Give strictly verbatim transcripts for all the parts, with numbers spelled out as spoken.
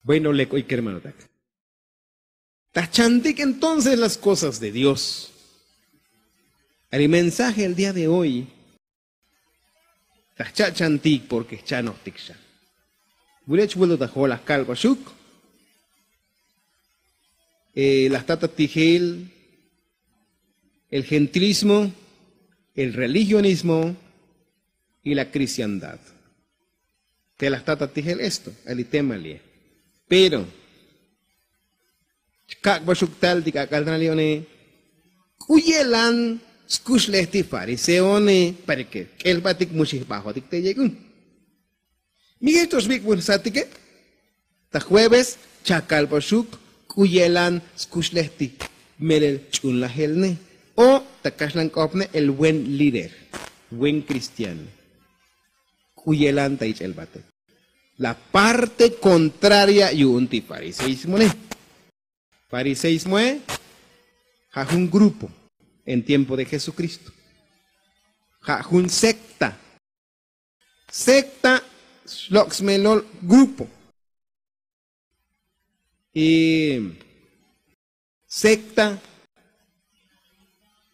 Bueno, lek oy kermanotak, ta jchantik entonces las kosas de dios. Ari mensaje el día de hoy ta jcha'chantik porke jchanojtik xa. Wulech vuelto ta jolaj kalbaxuk. Laj tata tijel el gentilismo, el religionismo y la kristiandad. Te laj tata tijel esto ali tema lie. Pero chkak'baxuk tal ti k'ak'al tanal yo'ne. K'u yelan skuxlej ti fariseone? Pareke k'elbatik mu xijbajotik te yek'un. Mi jech to xbik'bun jsatike. Ta jueves chakalbaxuk k'u yelan skuxlej ti melel ch'unlajel ne o ta kaxlan k'opne el buen líder, buen kristiano. K'u yelan ta ich'el bate. La parte kontraria yu'un ti fariseismo ne. Fariseismoe ja' jun grupo en tiempo de jesukristo. Ja' jun sekta. Sekta xlok' smelol grupo. Y sekta,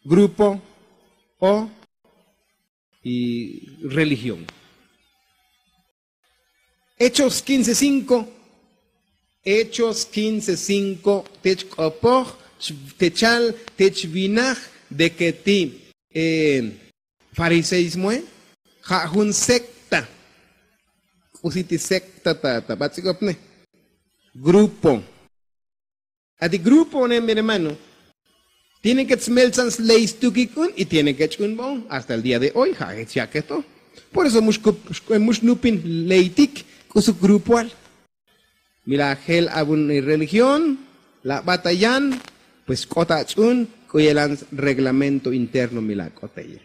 grupo o y religión. Hechos quince cinco. Hechos quince cinco. Te chk'opoj te chal te chvinaj de ke ti fariseismoe ja' jun sekta. K'usi ti sekta ta bats'ik'opne grupo. Ati grupo ne mi hermano tiene ke tsmeltsan sley stukik un y tiene ke ch'unbon hasta el día de hoy ja' jech ya'ke to. Por eso mu xnupin leytik k'usuk grupoal. Mi la jel abun religión la bata yan pues k'ot ach'un k'u yelan reglamento interno mi la k'oteye.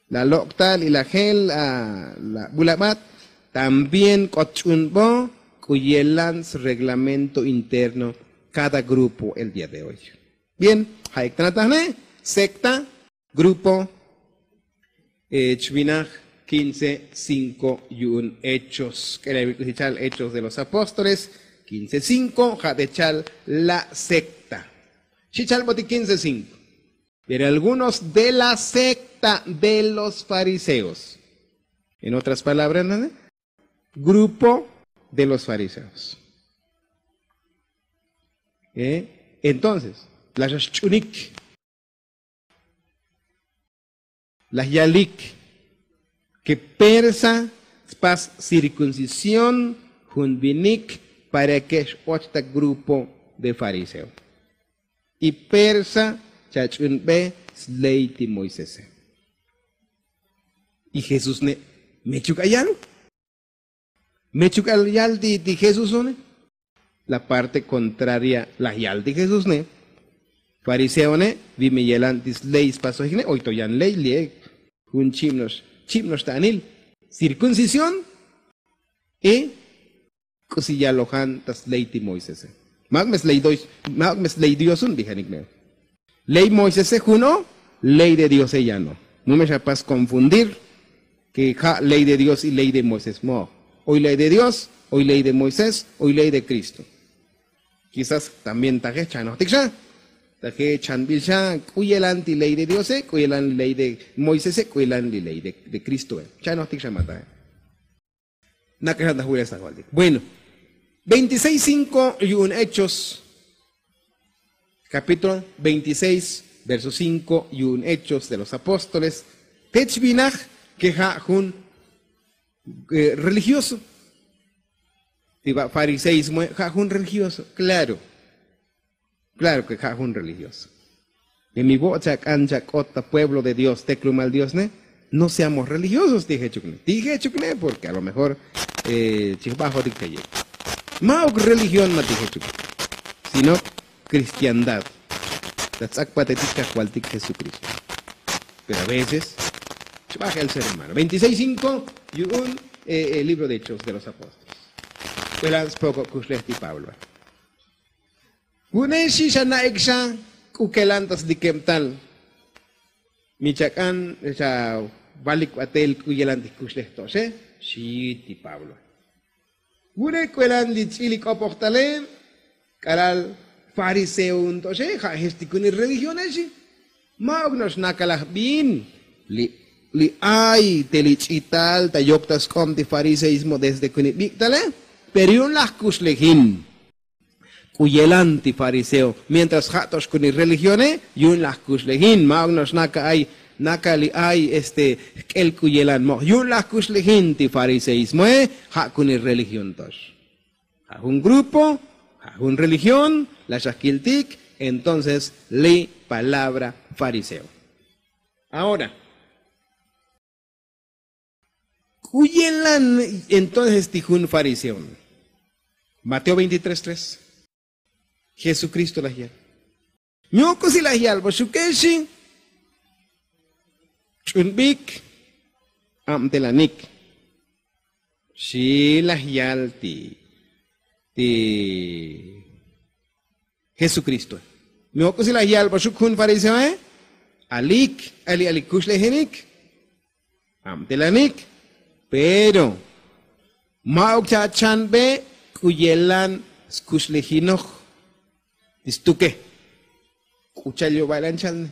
La lok'tal y la jel la bulabat también k'ot ch'unbo k'u yelan sreglamento interno. Kada grupo el día de hoy. Bien. Ja'ik tanatajne sekta grupo. Chvinaj quince cinco yu'un hechos k'elel wi k'usi chal hechos de los apóstoles quince cinco ja' te chal la sekta. Xi chalbotik quince cinco. Pero algunos de la sekta de los fariseos, en otras palabras, grupo de los fariseos. Entonces la xa xch'unik laj yalik ke persa tspas cirkuncisión jun vinik para ke x'och ta grupo de fariseo. Y persa chach'unbe sley ti moisese. Y jesús ne' mechuk ayal. Mechuk ayal ti jesúsone. La parte kontraria laj yal ti jesúsne. Fariseone vi mi yelan ti sley spasojikne oy to yan ley li'e. Jun chib noxta anil cirkuncisión y k'usi yalojan ta sley ti moisese. Ma'uk me sley diosun bijanik me ley moisese jun o ley de diose yan o. Mu me xapas konfundir ke ja' ley de dios y ley de moisés mo. Oy ley de dios, oy ley de moisés, oy ley de kristo. Kisas también taje chanojtik xa taje chanbil xa k'u yelan ti ley de diose k'u yelan ley de moisese k'u yelan li ley de kristoe. Chanojtik xa ma taje. Nak'axan ta julesajvaltik bueno. Veintiseis cinco yu'un hechos. Capítulo veintiseis verso cinco yu'un hechos de los apóstoles. Te chvinaj ke ja' jun religioso. Ti ba' fariseismoe ja' jun religioso. Klaro. Klaro ke ja' jun religioso. Mi vo'ot chak'an chak'ot ta pueblo de dios teklumal diosne. No seamos religiosos ti jechukne ti jechukne porke a lo mejor chijbajotik te yek. Ma'uk religión ma ti jechukne sino kristiandad. La ts'akpatetik kajvaltik jesukristo. Pero a veces chbajel ser hermano veintiseis cinco yu'un libro de hechos de los apóstoles. K'uelan spoko' kuxlej ti pablo. Vu'une xi xa na'ik xa k'u kelan ta slikebtal. Mi chak'an xa valik batel k'u yelan ti jkuxlej to'oxe. Xi ti pablo. Vune' k'uelan li ch'il li k'opojtale k'alal fariseo un to'oxe ja' jech ti kunil religionexe. Ma'uk no'ox nakalaj bin li ay te li ch'ital ta yok ta sk'ob ti fariseismo desde kunil bik'tale. Pero yu'un laj kuxlejin k'u yelan ti fariseo mientras ja' to'ox kunil religione. Yu'un laj kuxlejin ma'uk no'ox naka ay naka li ay este jk'el k'u yelan mo'oj yu'un laj kuxlejin ti fariseismoe. Ja' kunil religión to'ox ja' jun grupo ja' jun religión. La xajkiltik entonces li palabra fariseo. Ahora k'u yelan entonces ti jun fariseo. Mateo veintitrés tres. Jesukristo laj yal mi ok'usi laj yal bo xuke'xi ch'unbik abtelanik. Xi laj yal ti ti jesukristoe. Mi ok'usi laj yal bo xuk jun fariseoe. Alik ali ali kuxlejenik abtelanik. Pero ma'uk cha'chanbe k'u yelan skuxlejinoj ti stuke. K'u cha'al yo'bal an chalne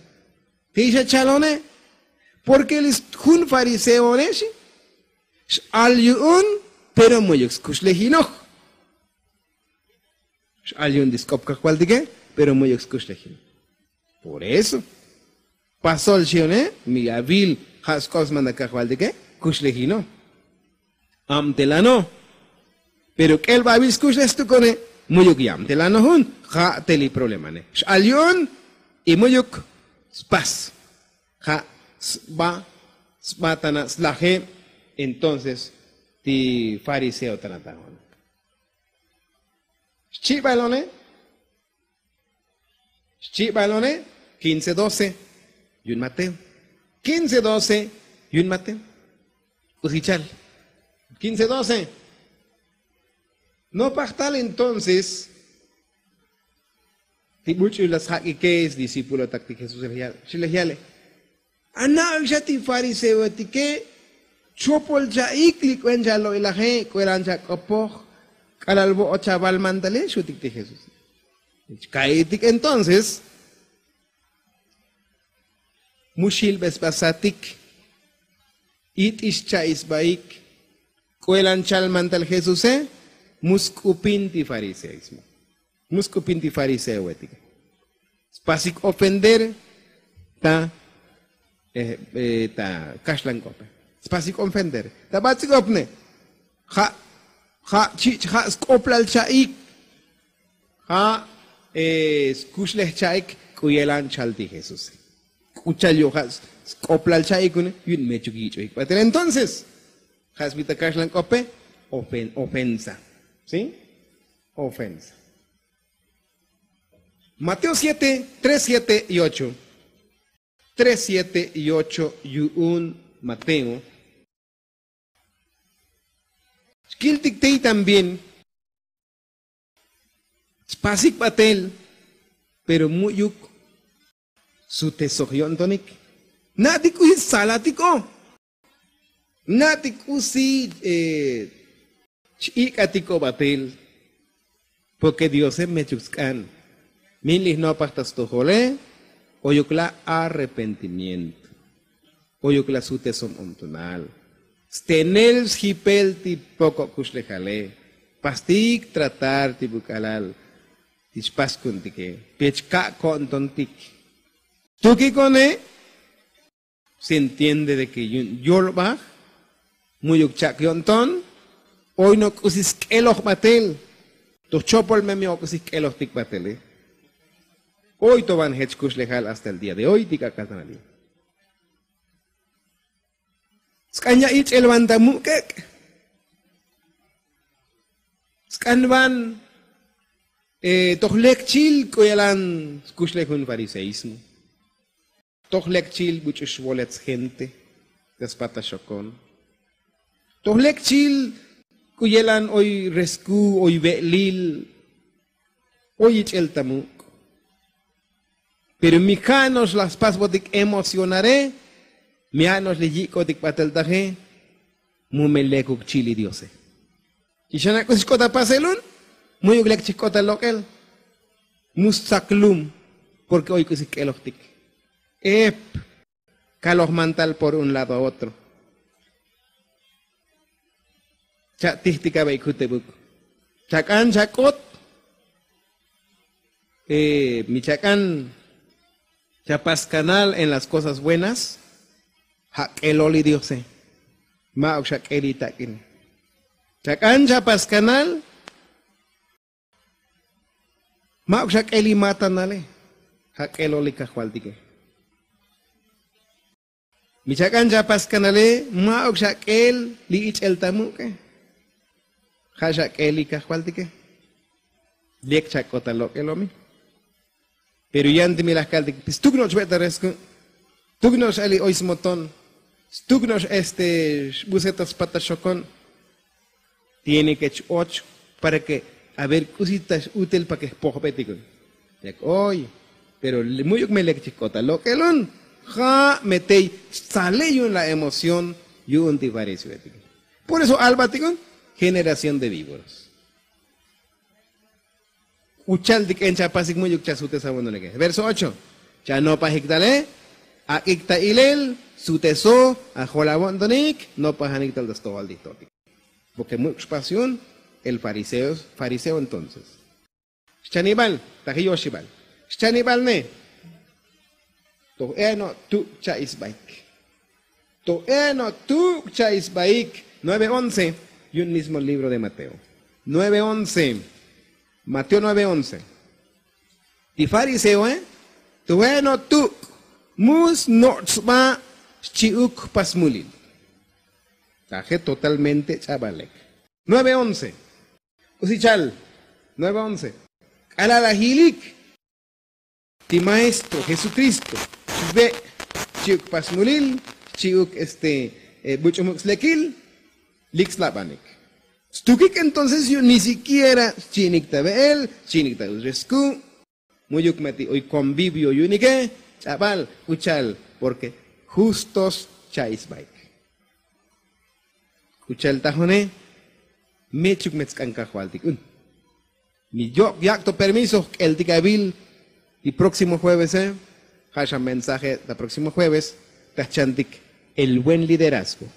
ti xa chalone. Porke li jun fariseonex x'al yu'un pero muyuk skuxlejinoj. X'al yu'un ti sk'op kajvaltike pero muyuk skuxlejinoj. Por eso pasol xione mi avil ja' sk'op smanda kajvaltike kuxlejinoj. Abtelano pero k'el ba avil skuxlej stukone. Muyuk yabtelano jun ja' te li problemane x'al yu'un y muyuk spas. Ja' sba sba tana' slajeb. Entonces ti fariseo tana' ta jun xchi'balone xchi'balone. Kince doce yu'un mateo. Kince doce yu'un mateo. K'usi chal kince doce. Nopaj tal entonces ti buch'u la sjak'ike discípulotak ti jesús laj yale xi laj yale. Ana'uk xa ti fariseoetike chopol cha'ik li k'uen chalo'ilaje k'uelan chak'opoj k'alal vo'ot chaval mantale xutik ti jesús. Ka'itik entonces mu xilbe sba satik it'ix cha'i sbaik k'uelan chal mantal jesuse. Mu sk'upin ti fariseoismo mu sk'upin ti fariseoetike. Spasik ofender ta ta kaxlan k'ope. Spasik ofender ta bats'ik opne ja' ja' chich' ja' sk'oplal cha'ik ja' skuxlej cha'ik k'u yelan chal ti jesuse. K'u chal yu' ja' sk'oplal cha'ik une yu'un mechuk yich'ojik batel entonces ja' sbi ta kaxlan k'ope ofensa. Si ofensa. Mateo siete tres siete y ocho. Tres siete y ocho yu'un mateo. Xkiltik tey también spasik batel pero mu'yuk sutesoj yo'ntonik. Na'tik k'usi tsalatiko na'tik k'usi ch'ik'atiko batel. Porke diose mechuk tsk'an min li jnopaj ta stojole. Oyuk la' arrepentimiento oyuk la' sutesom ontonal stenel sjipel ti poko' kuxlejale. Pastik tratar ti buk'alal ti chpaskuntike pech ka' ko'ntontik. Tukikone se entiende de ke yu'un yolbaj mu'yuk chak' yo'nton. Oy no' k'usi sk'eloj batel toj chopol me mi o' k'usi jk'elojtik batele. Oy to van jech kuxlejal hasta el día de oy ti k'ak'al tan ali. Sk'an ya' yich'el van ta muk'ek' sk'an van toj lek chil k'u yelan skuxlej jun fariseismo. Toj lek chil buch'u xvolet sjente ta spata xokon. Toj lek chil k'u yelan oy resku oy ve'lil oy yich'el ta muk'. Pero mi ja' no'ox laj spasbotik emocionare mi ja' no'ox li yik'otik batel taje. Mu me lekuk chil li diose. Y xana' k'usi xk'ot ta pasel un, mu'yuk lek chijk'ot ta lok'el. Mu stsak lum. Porke oy k'usi jk'elojtik. Ep. Kaloj mantal por un lado a otro. Cha' tijtik abe'ik jutebuk. Chak'an chak'ot. Mi chak'an chapas kanal en las kosas buenas. Ja' k'elol li diose. Ma'uk xa k'el li tak'ine. Chak'an chapas kanal. Ma'uk xa k'el li matanale. Ja' k'elol li kajvaltike. Mi chak'an chapas kanale. Ma'uk xa k'el li ich'el ta muk'e. Ja' xa k'el li kajvaltike. Lek chak'ot ta lok'elomi. Pero yan ti mi laj kaltik stuk no'ox be' ta resku'. Stuk no'ox ali oy smoton. Stuk no'ox este xbuse ta spat ta xokon. Tiene ke ch-och para ke a ver k'usi ta x'utel pa ke jpojbetik un. Lek oy. Pero mu'yuk me lek chijk'ot ta lok'el un. Ja' me tey stsale yu'un la emoción yu'un ti fariseoetik. Por eso albatik un generación de víboras. K'u cha'al ti k'en chapasik mu'yuk chasutesabontonike. Verso ocho. Chanopajik tale. Ak'ik ta ilel suteso ajol avo'ntonik nopajanik tal ta stojol ti jtotik. Porke mu'yuk xpas yu'un el fariseo. Entonces xchanibal taji yoxibal xchanibal ne. Toj e no' tuk' cha'i sbaik. Toj e no' tuk' cha'i sbaik. Nueve once. Yu'un mismo libro de mateo. Nueve once. Mateo nueve once. Ti fariseoe toj e no' tuk' mu sno'och sba xchi'uk jpasmulil. Taje totalmente ch'abalek. Nueve once. K'usi chal. Nueve once. K'alal laj yilik ti maestro jesukristo xbe' xchi'uk jpasmulil xchi'uk este buch'u muk' slekil. Lik slabanik stukik entonces yu'un ni sikiera xchi'inik ta be'el xchi'inik ta uxesku'. Mu'yuk me ti oy konvivio yu'unike. Ch'abal k'u cha'al porke justos cha'i sbaik. K'u cha'al tajone mechuk me tsk'an kajvaltik un. Mi yok' yak' to permiso jk'eltik avil ti próximo juevese. Ja' xa mensaje ta próximo jueves ta jchantik el buen liderazgo.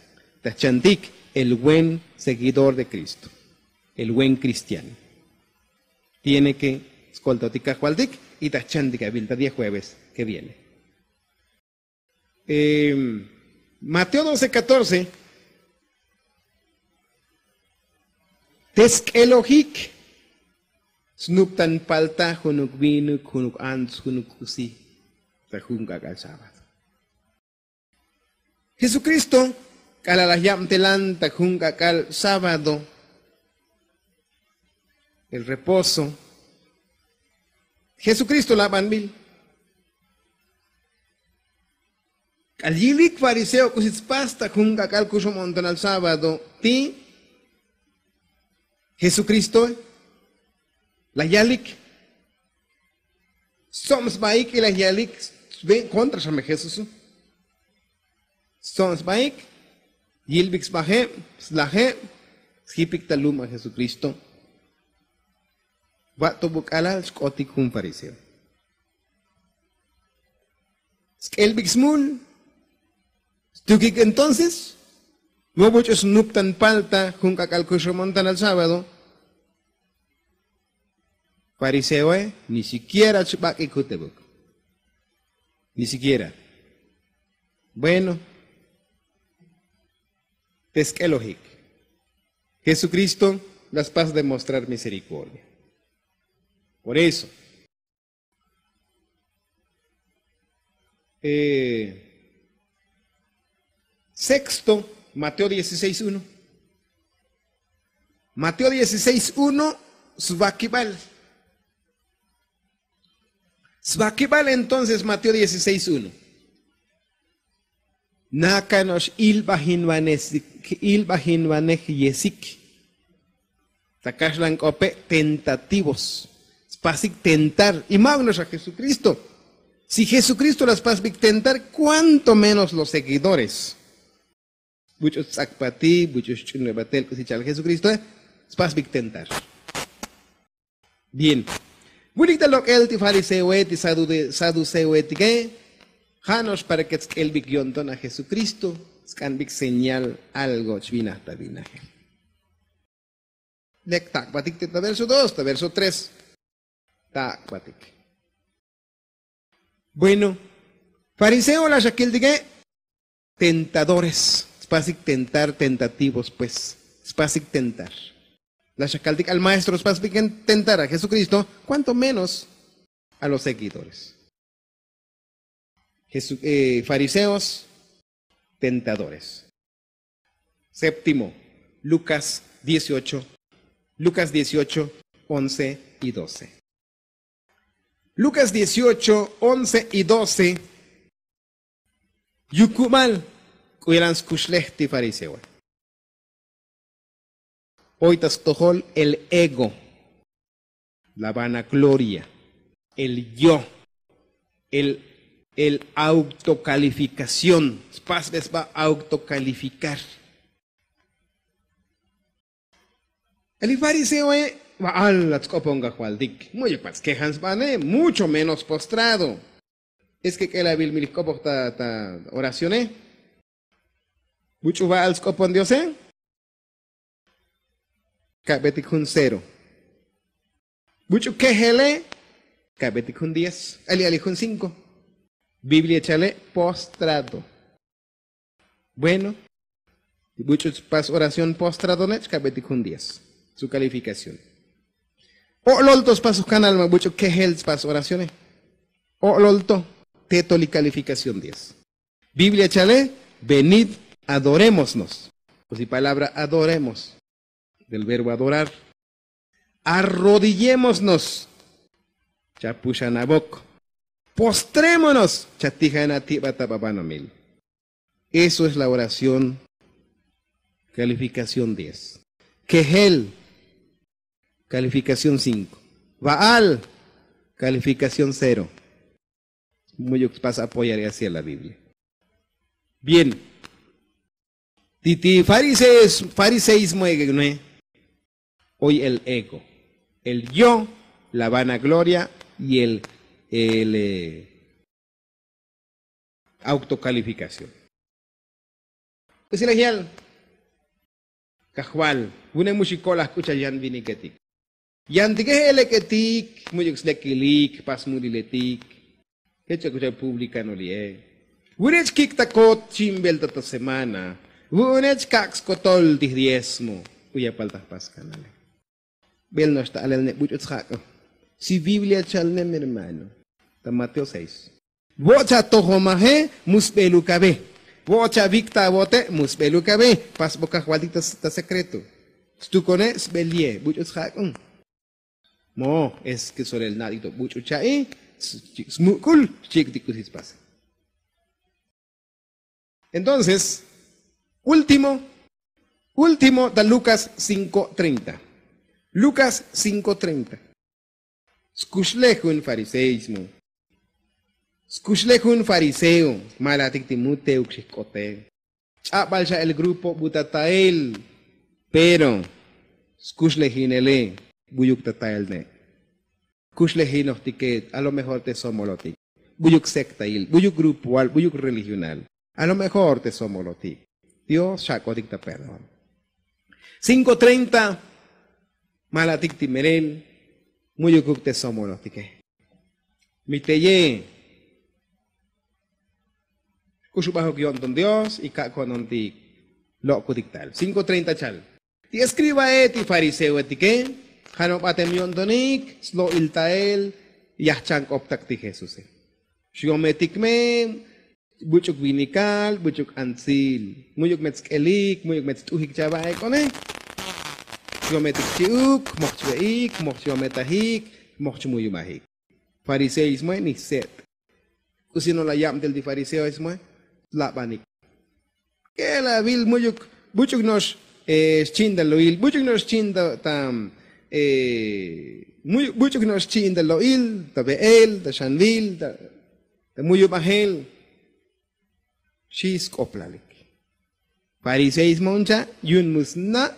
Ta jchantik el buen seguidor de kristo. El buen kristiano tiene ke skoltotik kajvaltik. Y ta jchantik avil ta diez jueves ke viene. Mateo doce catorce. Te sk'elojik snuptan palta junuk vinuk junuk ants junuk k'usi ta jun k'ak'al sábado. Jesukristo k'alal laj yabtelan ta jun k'ak'al sábado el reposo. Jesukristo labanbil k'al yilik fariseo k'usi tspas ta jun k'ak'al kuxum o'ntonal sábado ti jesukristoe. Laj yalik stsob sbaik y laj yalik sben kontra xa me jesuso. Stsob sbaik yilbik sbajeb slajeb sjipik ta lum a jesukristo. Va'to buk'alal xk'otik jun fariseo sk'elbik smul. Stukik entonces mobuch'u snuptan palta jun k'ak'al kuxumontanal sábado. Fariseoe ni sikiera chbak'ik jutebuk. Ni sikiera. Bueno. Te sk'elojik jesukristo la spas demostrar miserikordia. Por eso sexto mateo dieciséis uno. Mateo dieciséis uno. Svakibal svakibal entonces mateo dieciséis uno. Nakano'ox ilbajinvanej yesik ta kaxlan k'ope' tentativos. Spasik tentar y ma'uk no'ox a jesukristo. Si jesukristo la spasbik tentar kuánto menos los seguidores. Buch'u sts'akpati buch'u xch'unlebatel k'usi cha'al jesukristoe. Spasbik tentar. Bien. Vulik ta lok'el ti fariseoe ti saduceoetike. Ja' no'ox para ke tsk'elbik yo'nton a jesukristo, sk'anbik señal algo chvinaj ta vinajel. Lek tak'batik te ta verso dos ta verso tres. Tak'batik. Bueno, fariseo la xakiltike. Tentadores. Spasik tentar tentativos pues. Spasik tentar. La xakaltik al maestro spasbik tentar a jesukristo, kuanto menos a los seguidores. Fariseos, tentadores. Séptimo, lukas dieciocho. Lukas dieciocho, once y doce. Lukas dieciocho, once y doce. Yukubal k'u yalan skuxlej ti fariseoe. Oy ta stojol el ego, la vanagloria, el yo, el autokalifikación. Spasbe sba autokalifikar. Eli fariseoe, ba'al la tsk'opon kajvaltik, mu'yuk pat skejan sbane mucho menos postrado. Es ke k'elabil mi li jk'opoj ta oracione. Buch'u ba'al sk'opon diose. Kabetik jun cero. Buch'u kejele. Kabetik jun diez. Ali ali jun cinko. Biblia chale postrado. Bueno, buch'u tspas oración postradone chkabetik jun diez. Su kalifikación. O'lol to spas ukanal ma buch'u kejel tspas oracione. O'lol to. Teto li kalifikación diez. Biblia chale, venid, adorémosnos. Pues si palabra adoremos del verbo adorar. Arrodillémonos. Chapuxanabok. Postrémonos. Chatijanatibata babanomil. Eso es la oración. Kalifikación diez. Kejel. Kalifikación cinko. Ba'al. Kalifikación cero. Mu'yuk spas apoyar y hacia la biblia. Bien. Titi fariseismo egegnoe. Oy el ego, el yo, la vanagloria y el autokalifikación. Usilaj yal. Kajval, vune muxi ko'laj k'u cha yan viniketik. Yantike je' elek'etik, mu'yuk slekilik jpas muliletik. Je' chak k'u cha publikano li'e. Vune chkik' ta kot chimbel ta ta semana. Vu'une chkak' skotol ti jdiezmo. K'u yapal ta jpas kanale. Bel no'ox ta alel ne buch'u tsjak'o. Si biblia chal ne mi hermano. Ta mateo seis. Vo'och atojomaje, mu sbeluk ave. Vo'och avikta avote, mu sbeluk ave. Pasbok kajvaltik ta sekreto. Stukone sbel ye buch'u tsjak'o. Mo es ke solel na'tik to buch'u cha'i. Smuk'ul xchi'iktik k'usi spase. Entonces, último, último ta lukas cinko treinta. Lukas cinko treinta. Skuxlej jun fariseismo. Skuxlej jun fariseo. Malatik ti muteuk xijk'ote. Ch'abal xa el grupo bu ta tael. Pero skuxlejinele, bu'yuk ta tael ne'. Kuxlejinojtike, a lo mejor te somolotik. Bu'yuk sektail, bu'yuk grupoal, bu'yuk religional. A lo mejor te somolotik. Dios xak'otik ta perdón. Cinko treinta. Malatik ti melel. Mu'yukuk te somolotike. Mi teye. K'uxubajuk yo'nton dios y kak' ko'nontik. Lok'kutik tal cinko treinta chal. Ti eskribae ti fariseoetike. Janobatem yo'ntonik slo'il tael. Yajchank'optak ti jesuse. Xyometik me. Buch'uk vinikal buch'uk antsil. Mu'yuk me tsk'elik mu'yuk me tst'ujik chava'ek'one. Yometik chi'uk moj chve'ik moj chyometajik. Moj chmuyubajik. Fariseoismoe nijset'. K'usi no' la yabtel ti fariseoismoe. Labanik. K'elavil mu'yuk buch'uk no'ox xchi'intal lo'il buch'uk no'ox xchi'intal ta buch'uk no'ox xchi'intal lo'il ta ve'el ta xanvil ta mu'yubajel. Xi sk'oplalik. Fariseismo uncha' yu'un mu sna'.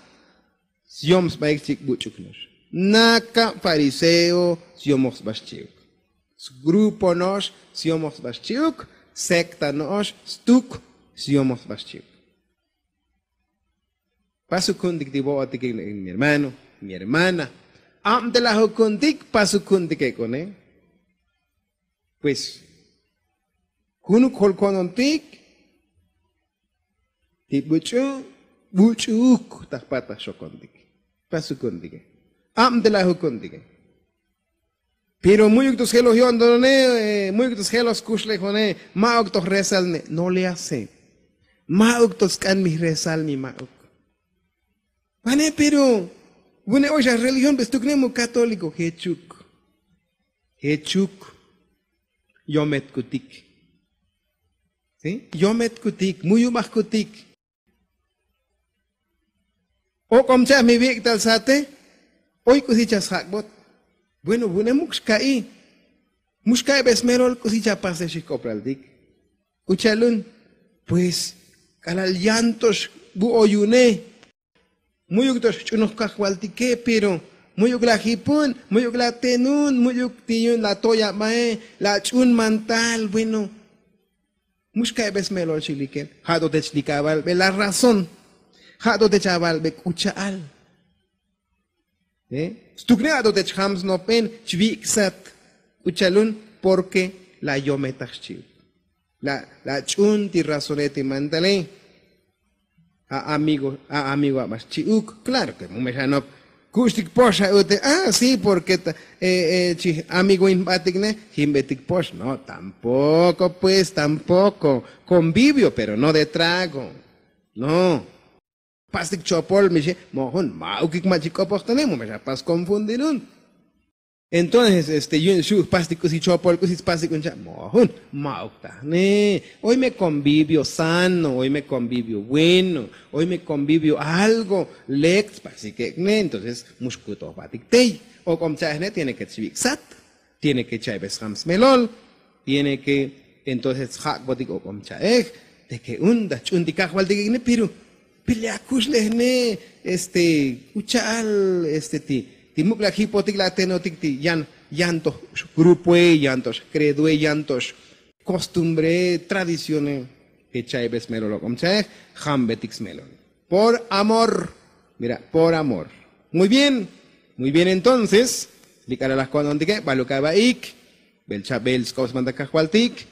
Syom sbaik xchi'uk buch'uk no'ox. Nakab fariseo syomoj sba xchi'uk. Sgrupo no'ox syomoj sba xchi'uk. Sekta no'ox stuk syomoj sba xchi'uk. Pasuk ku'untik ti bo'otik mi hermano, mi hermana. Abtelaj ukku'untik pasuk ku'untik ek'one. Pues junuk jol ko'nontik ti buch'u buch'uuk ta jpattaj xokontik. Pasuk ku'untike. Abtelaj ukku'untike. Pero mu'yuk to sjeloj yo'ntonone, mu'yuk to sjeloj skuxlejone, ma'uk to jresal ne no le hace. Ma'uk to sk'an mi jresal mi ma'uk. Vane pero vune oy xa religión pe stukne mu katóliko jechuk. Jechuk. Yometkutik. Yometkutik muyubajkutik. Ok'om cha' mi vik'tal sate. Oy k'usi cha' sjak'bot. Bueno vune muk xka'i. Muk xka'i be smelol k'usi cha' pase xijk'oplaltik. K'u cha'lun. Pues k'alal yan to xbu'oyune. Mu'yuk to xch'unoj kajvaltike pero mu'yuk la jipun, mu'yuk la tenun, mu'yuk ti yu'un la toy abae, la ch'un mantal bueno. Muk xka'i be smelol xilikel. Ja' to te chlik avalbe la razón. Ja' to te chavalbe k'u cha'al. Stukne ja' to te chjam snopben chviksat. K'u cha'lun. Porke la yometaj xchi'uk. La ch'un ti razone ti mantale. A amigo aba xchi'uk. Klaro ke mu me xanop. Ku'uxtik pox ja' ute a si porke chi amigoin jbatik ne. Jimbetik pox no tampoko pues tampoko. Konvivio pero no de trago. No. Pastik chopol mi xi. Mo'ojun ma'ukik ma' chik k'opojtane mu me xa pas konfundirun. Entonces este yu'un xu' jpastik k'usi chopol k'usi tspastik un cha' mo'ojun. Ma'uk tajne. Oy me konvivio sano oy me konvivio bueno. Oy me konvivio algo lek tspastik ek'ne entonces mu xkutojbatik tey. Ok'om cha'ejne tiene ke txviksat. Tiene ke cha'ibes jam smelol. Tiene ke entonces tsjak'botik ok'om cha'ej. Teke un ta ch'untik kajvaltik ek'ne pero pile akuxlejne. Este k'u cha'al este ti muk' la jipotik la tenotik ti yan to xgrupoe yan to xkredoe yan to xkostumbree tradicione. Ke cha'ibes smelol ok'om cha'ej. Jambetik smelol. Por amor. Mira por amor. Muy bien. Muy bien entonces. Li k'alalaj ko'nontike baluk abaik. Bel chabel sk'op sbanta kajvaltik.